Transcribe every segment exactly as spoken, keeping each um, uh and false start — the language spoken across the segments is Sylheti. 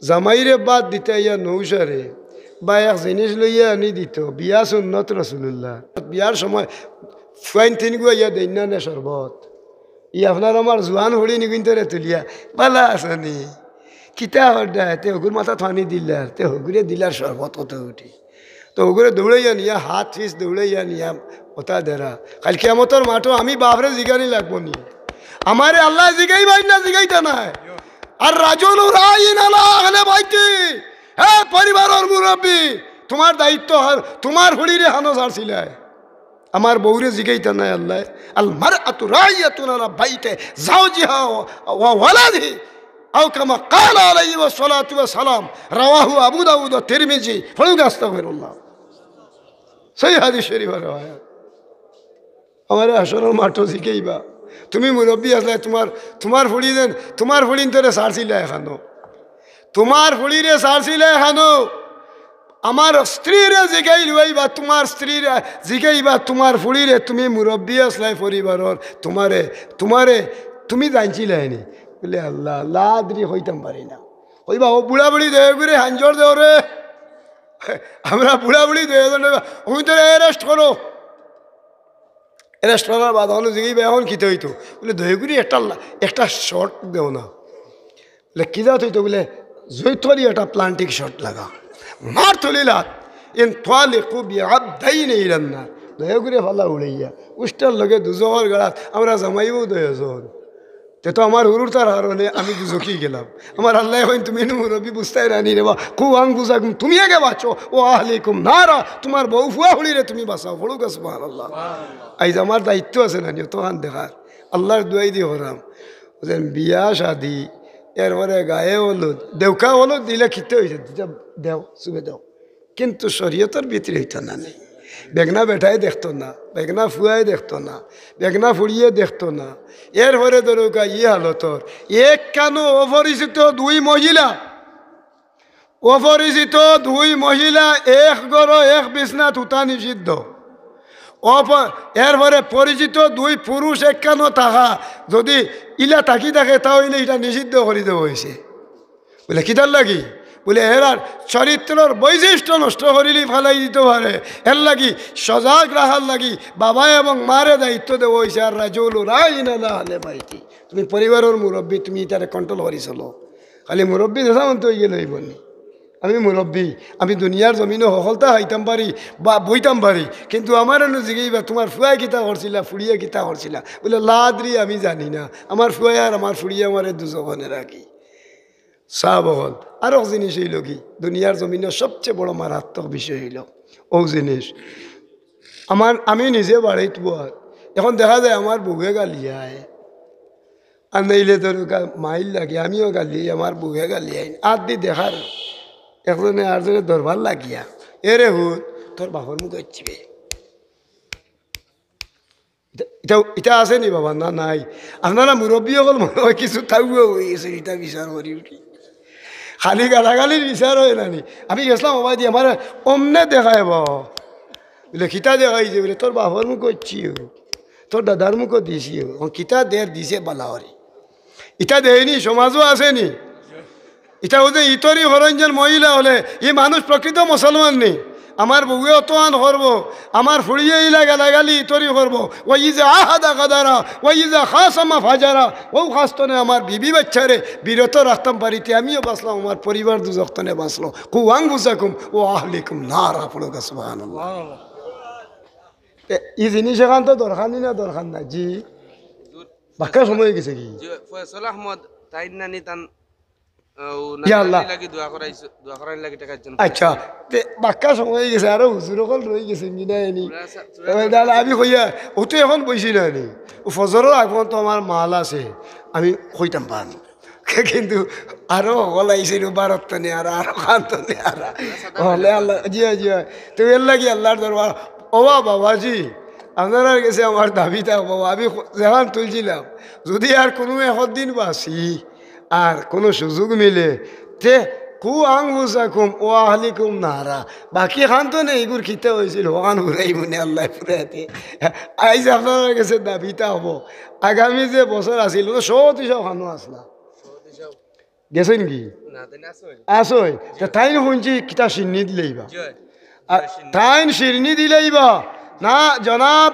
জামাইরে বাদ দিতা ইয়া নৌশারে, বা এক জিনিস লইয়া আনি দিত, বিয়া সুন্নত রাসুলুল্লাহ। বিয়ার সময় ফুয়াইন তিনগু আইয়া দেইন না নে শরবত। ই আপনার আমার জুয়ান ফুড়ি নিগুইন্তরে তুলিয়া, "বালা আছনি? কিতা কররা?" তে হগুর মাথাত পানি দিলার, তে হগুরে দিলার শরবত কত উঠি। তো হগুরে দৌড়াইয়া নিয়া, হাত পিছ দৌড়াইয়া নিয়া, ওটা দেরা। কাইল কিয়ামতর মাঠো আমি বাফরে জিগানি লাগবো নি? আমারে আল্লায় জিগাইবা না জিগাইতা নায়? আর রাজুলু রাইন আলা আহলে বাইতি, হে পরিবারর মুরব্বি, তুমার দায়িত্ব অর তুমার ফুড়িরে হানো ছাড়ছিলায়। আমার বউরে জিগাইতা নায় আল্লায়। আল মারআতু রাইয়াতুন আলা বাইতি জাওজিহা ওয়া, ওয়া ওয়ালাদিহি। আও কামা ক্বালা আলাইহি ওয়াসসালাতু ওয়াসসালাম। রাওয়াহু আবু দাউদ ওয়া তিরমিজি। পড়ুন আস্তাগফিরুল্লাহ। সহিহ হাদিস শরিফর রেওয়ায়াত। আমারে হাশরর মাঠো জিগাইবা, তুমি মুরব্বি আছলায়, তুমার, তুমার ফুড়ি যেন, তুমার ফুড়িন্তরে ছাড়ছিলায় হানো। তুমার ফুড়িরে ছাড়ছিলায় হানো। আমার স্ত্রীরে জিগাইল অইবা, তুমার স্ত্রীরে জিগাইবা, তুমার ফুড়িরে, তুমি মুরব্বি আছলায় পরিবারর, তুমারে, তুমারে, তুমি জানছিলায় নি? বুলে, "আল্লাহ, লা আদরি, কইতাম পারি না।" কইবা, "ও বুড়া বুড়ি দুইওগুরে হাঞ্জর দেও রে।" আমরা বুড়া বুড়ি দুইওজন, "তুমি তো রেস্ট করো।" রেস্ট করার বাদ অনো জিগাইবা, "এখন কিতা অইতো?" বুলে, "দুইওগুরে একটা লা-, একটা শট দেও না।" বুলে, "কিতা অইতো?" বুলে, "জুইত করি একটা প্লান্টিক শট লাগা, মার তুলিলা, ইনতালিকু বিআবদাইনি ইলান নার।" দুইওগুরে ফালা উড়াইয়া, উষ্টার লগে দুজখর গাড়াত, আমরা জামাই বউ দুইওজন। তে তো আমার হুরুর তার হারণে আমি দুজখি গেলাম। আমার আল্লায় কইন, "তুমি নু মুরব্বি বুঝতায় নানি রে বা, কু আনফুসাকুম, তুমি আগে বাঁচো, ওয়া আহলিকুম নারা, তুমার বউ ফুয়া ফুড়িরে তুমি বাঁচাও।" পড়ুক্কা সুবহানাল্লাহ। আইজ আমার দায়িত্ব আছে নানি, অতখান দেখার। আল্লার দুয়াই দি করাম। বুঝলেন, বিয়া শাদি, এরপরে গায়ে হলুদ, দেউকা হলুদ দিলে কিতা অইছে? দিতা দেও, চুমে দেও। কিন্তু শরিয়তর ভিতরে অইতো না নি। বেগনা বেটায় দেখতো না, বেগনা ফুয়ায় দেখতো না, বেগনা ফুড়িয়ে দেখতো না। এরপরে ধরুক্কা ই হালতর, এক কানো অপরিচিত দুই মহিলা, অপরিচিত দুই মহিলা এক ঘরো এক বিছনাত হুতা নিষিদ্ধ। অপ-, এরপরে পরিচিত দুই পুরুষ এক কানো থাকা, যুদি ইলা থাকি থাকে, তা অইলে ইটা নিষিদ্ধ করি দেওয়া অইছে। বুলে, "কিতার লাগি?" বুলে, "এরার চরিত্রর বৈশিষ্ট্য নষ্ট করিলি ফালাই দিতো পারে, এর লাগি সজাগ রাখার লাগি বাবা এবং মারে দায়িত্ব দেওয়া অইছে।" আর রাজুলু রাইন আলা আহলে বাইতি, তুমি পরিবারর মুরব্বি, তুমি ইতারে কন্ট্রোল করি চলো। খালি মুরব্বি যেতা মনতো অইগেলে অইবো নি? আমি মুরব্বি, আমি দুনিয়ার জমিনো হকলতা খাইতাম পারি বা বইতাম পারি, কিন্তু আমারে নু জিগাইবা, "তুমার ফুয়ায় কিতা করছিলা, ফুড়িয়ে কিতা করছিলা?" বুলে, "লা আদরি, আমি জানি না, আমার ফুয়ায় আর আমার ফুড়িয়ে আমারে দুজখনে রাখি।" সাব অকল, আরক জিনিস অইলো কি, দুনিয়ার জমিনো সবচে বড় মারাত্মক বিষয় অইলো অউ জিনিস। আমার, আমি নিজে বাড়িত বওয়ার, এখন দেখা যায় আমার বউয়ে গালিয়ায়, আর নাইলে ধরুক্কা মাইর লাগে, আমিও গালিয়াই, আমার বউয়ে গালিয়ায়, আত দি দেখার, একজনে আরজনে ধরবার লাগিয়া, "এরে হুন, তোর বাপর মুখো অইছে বে।" ইটা, ইটা, ইটা আছে নি বাবা? না, নাই। আপনারা মুরব্বি অকল মনে অয় কিছু তাউয়া অইগেছে, ইটা বিচার করি উঠি। খালি গালাগালির বিচার অয় না নি? আমি গেছলাম, বাবা দি আমারে অমনে দেখায় বাবা। বুলে, "কিতা দেখাইছে?" বুলে, "তোর বাপর মুখো অইছে, তোর দাদার মুখো দিছে।" অখন কিতা দের দিছে বালা করি। ইটা দেয়নি, সমাজো আছে নি? ইটা অউ যে ইতরি করইন যেন মহিলা অকলে, ই মানুষ প্রকৃত মুসলমান নি? আমার বউয়ে অতখান করবো, আমার ফুড়িয়ে ইলা গালাগালি ইতরি করবো, ওয়া ইজা আহাদা গাদারা, ওয়া ইজা খাসামা ফাজারা, অউ খাস্তনে আমার বিবি বাইচ্চারে বিরত রাখতাম পারি তে আমিও বাঁচলাম, আমার পরিবার দুজখ তনে বাঁচলো। কু আনফুসাকুম ওয়া আহলিকুম নারা, পড়ুক্কা সুবহানাল্লাহ। এ, ই জিনিস অখান তো দরকার নি না, দরকার নাই? জি। বাক্কা সময় অইগেছে কি? জি, ফয়সল আহমদ তাইন নানি তান, আহ, ও ইয়া আল্লাহ। নানি লাগি দোয়া করাইছো, দোয়া করার লাগি টেকা একজন আচ্ছা, তে বাক্কা সময় অইগেছে, আরো হুজুর অকল রইগেছে, মিনা এনি। পুরা সা-, পুরা এবার দাদা, আমি কইয়া, অউ তো এখন বইছি না নি। অউ ফজরর আগ পর্যন্ত আমার মাল আছে, আমি কইতাম পারি। কিন্তু আরো হকল আইছিল ভারত তনে, আর আরো খান তনে, আর হকলে আল্লাহ, জি অয়, জি অয়। তে এর লাগি আল্লার দরবার, ও বা বাবাজি, আপনারার গেছে আমার দাবি থাকবো, আমি যেখান তুলছিলাম, যুদি আর কুনু একদিন বাঁচি, আর কুনু সুযোগ মিলে, তে কু আনফুসাকুম ওয়া আহলিকুম নারা, বাকি খান তনে ইগুর কিতা অইছিল, অখান ফুরাইমুনে আল্লায় ফুরাইতে। আইজ আপনারার গেছে দাবি থাকবো, আগামী যে বছর আছিল, অউ তো সব হিসাব খানো আছলা। গেছইন কি? না, তাইন আছইন। আছইন। তে তাইন হুনছি কিতা শিন্নি দিলাইবা। জি। আর তাইন শিন্নি দিলাইবা। না, জনাব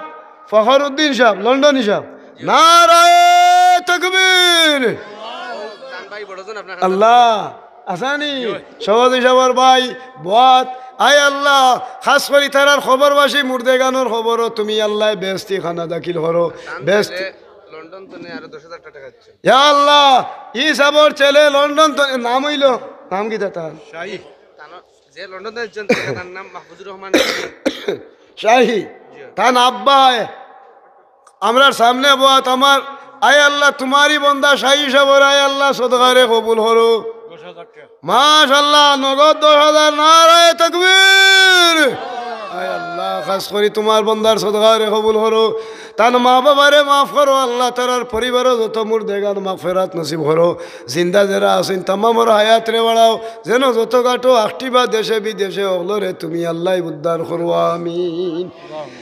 ফখরুদ্দিন সাহেব, লন্ডনী সাহেব। নারায়ে তাকবীর। তান ভাই বড়জন আপনার কাছে। আল্লাহ, আসানি, সভাপতি সাহেবর ভাই, বত, আয় আল্লাহ, খাস করি তারার খবরবাসী মুর্দেগানর খবরও তুমি আল্লাহ বেহেস্তি খানা দাখিল করো। তান বেহেস্তি ছেলে লন্ডন তো নেই, আরো দশ হাজার টাকা দিচ্ছেন। ইয়া আল্লাহ, ই সাবর ছেলে লন্ডন তো, নাম অইল, নাম কিতা তার? শাহী। তান, যে লন্ডন তো একজন, তার নাম মাহফুজুর রহমান শাহী। শাহী। জি। তান আব্বায় আমরার সামনে বওয়াত আমার, আয় আল্লাহ, তুমারই বন্দা শাহী সাবর, আয় আল্লাহ, সদকারে কবুল করো। দশ হাজার টাকা। মাশাআল্লাহ, নগদ দশ হাজার, নারায়ে তাকবীর। আয় আল্লাহ, খাস করি তুমার বন্দার সদকারে কবুল করো। তান মা বাবারে মাফ করো আল্লাহ, তারার পরিবারও যত মুর্দেগান মাগফিরাত নসিব করো। জিন্দা যেরা আছইন তামামর হায়াতরে বাড়াও, যেন যত গাটো আখটিবা দেশে বিদেশে অকলরে তুমি আল্লাহ উদ্ধার করো, আমিন।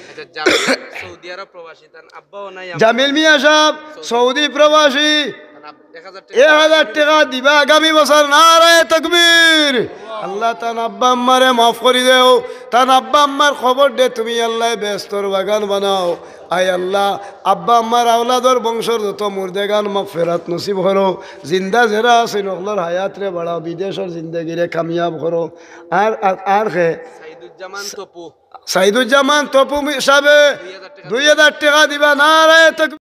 আচ্ছা, জামিল সৌদি আরব প্রবাসী, তান আব্বাও নাই, আম্মাও জামিল মিয়া সাহেব, সৌদি প্রবাসী, তান আব-, এক হাজার টাকা। এক হাজার টাকা দিবা আগামী বছর, নারায়ে তাকবীর। আল্লাহ তান আব্বা আম্মারে মাফ করি দেও, তান আব্বা আম্মার কবররে তুমি আল্লাহ বেহেস্তর বাগান বানাও। আয় আল্লাহ, আব্বা আম্মার আওলাদর বংশর যত মুর্দেগান মাগফিরাত নসিব করো, জিন্দা যেরা আছইন অকলর হায়াতরে বাড়াও, বিদেশর জিন্দেগিরে কামিয়াব করো। আর, আর, আর কে? সাইদুজ্জামান তপু। সাইদুজ্জামান তপু মি-, সাহেবে দুই হাজার টাকা। দুই হাজার টাকা দিবা, নারায়ে তাকবীর।